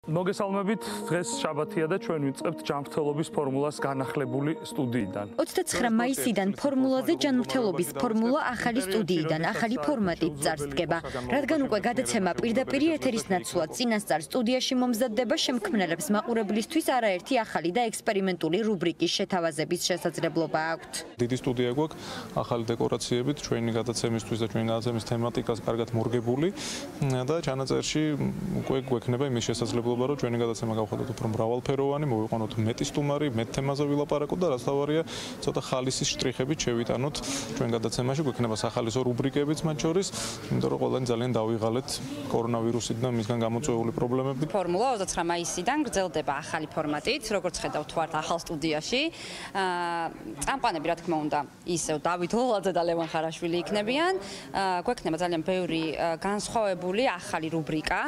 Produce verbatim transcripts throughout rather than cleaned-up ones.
მოგესალმებით, დღეს შაბათია და ჩვენ ვიწყებთ ჯანმრთელობის ფორმულას განახლებული სტუდიიდან. ოცდაცხრა მაისიდან ფორმულაზე ჯანმრთელობის ფორმულა ახალი სტუდიიდან, ახალი ფორმატით წარსდგება. რადგან უკვე გადაცემა პირდაპირ ეთერის ნაცვლად წინასწარ სტუდიაში მომზადდება, შემქმნელებს მაყურებლისთვის არაერთი ახალი და ექსპერიმენტული რუბრიკის შეთავაზების შესაძლებლობა აქვთ. დიდი სტუდია გვაქვს, ახალი დეკორაციებით, ჩვენი გადაცემისთვის და ჩვენი გადაცემის თემატიკას კარგად მორგებული და ჩანაწერში უკვე გვექნება იმის შესაძლებლობა რომ ჩვენი გადაცემა გავხადოთ უფრო მრავალფეროვანი, მოვიყვანოთ მეტი სტუმარი, მეტ თემაზე ვილაპარაკოთ და რაც თავარია, ცოტა ხალისის შტრიხებით შევიტანოთ ჩვენ გადაცემაში, გვექნება სახალისო რუბრიკებიც მათ შორის, იმიტომ რომ ყველანი ძალიან დავიღალეთ კორონავირუსით და მისგან გამოწვეული პრობლემებით. ფორმულა ოცდაცხრა მაისიდან გრძელდება ახალი ფორმატით, როგორც ხედავთ ვართ ახალ სტუდიაში. წამყვანები რა თქმა უნდა, ისევ დავით ლოლაძე და ლევან ხარაშვილი იქნებიან. გვექნება ძალიან ბევრი განსხვავებული ახალი რუბრიკა,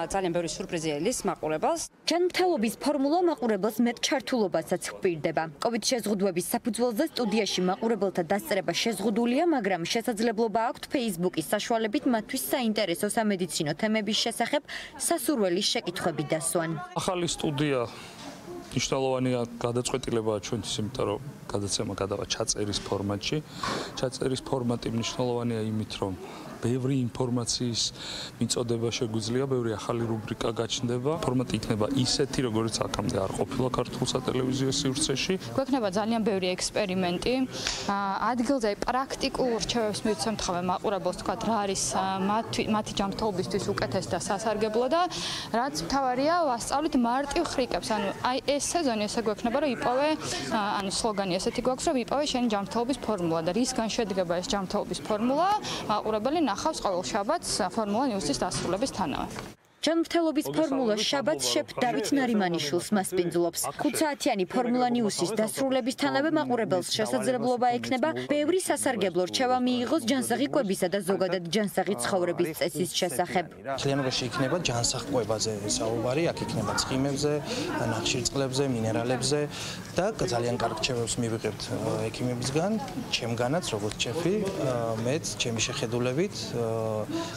ძალიან ბევრი სურპრიზი მაყურებელს. ჯანმრთელობის ფორმულა მაყურებელს მეტ ჩართულობასაც ჰპირდება. კოვიდ შეზღუდვების საფუძველზე სტუდიაში მაყურებელთა დასწრება შეზღუდულია, მაგრამ შესაძლებლობა აქვთ Facebook-ის საშუალებით მათთვის საინტერესო სამედიცინო თემების შესახებ სასურველი შეკითხვები დასვან. ახალი სტუდია მნიშვნელოვანია გადაწყვეტილებაა ჩვენთვის, იმიტომ რომ გადაცემა გადავა ჩაწერის ფორმატში. ჩაწერის ფორმატი მნიშვნელოვანია იმით, რომ ბევრი ინფორმაციის მიწოდება შეგვიძლია, ბევრი ახალი რუბრიკა გაჩნდება. ფორმატი იქნება ისეთი, როგორც აქამდე არ ყოფილა ქართულ სატელევიზიო სივრცეში. გვექნება ძალიან ბევრი ექსპერიმენტი. ადგილზე პრაქტიკულ რჩევებს მივცემთ ხოლმე მაყურებელს, თქვა რა არის მათი ჯანმრთელობისთვის უკეთესი და სასარგებლო და რაც მთავარია, ვასწავლით მარტივ ხრიკებს. ანუ აი ეს სეზონი ესე გვექნება, რომ იპოვე, ანუ სლოგანი ესეთი გვაქვს, რომ იპოვე შენი ჯანმრთელობის ფორმულა და რისგან შედგება ეს ჯანმრთელობის ფორმულა, მაყურებელი ნახავს ყოველ შაბათს ფორმულა ნიუსის დასრულებისთანავე. ჯანმრთელობის ფორმულა შაბათს შეფ დავით ნარიმანიშვილს მასპინძლობს. ხუთ საათიანი ფორმულა ნიუსის დასრულებისთანავე მაყურებელს შესაძლებლობა ექნება ბევრი სასარგებლო რჩევა მიიღოს ჯანსაღი-კვებისა და ზოგადად ჯანსაღი ცხოვრების წესის შესახებ. მთლიანობაში იქნება ჯანსაღ-კვებაზე საუბარი, აქ იქნება ცხიმებზე, ნახშირწყლებზე, მინერალებზე და ძალიან კარგ რჩევებს მივიღებთ ექიმებისგან, ჩემგანაც როგორც შეფი, მეც ჩემი შეხედულებით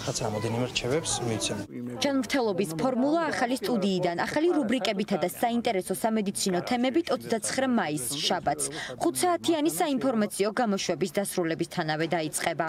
რაც რამოდენიმე რჩევებს მივცემ. ჯანმრთელობის ფორმულა ახალი სტუდიიდან, ახალი რუბრიკებითა და საინტერესო სამედიცინო თემებით ოცდაცხრა მაისს შაბათს. ხუთ საათიანი საინფორმაციო გამოშვების დასრულებისთანავე დაიწყება.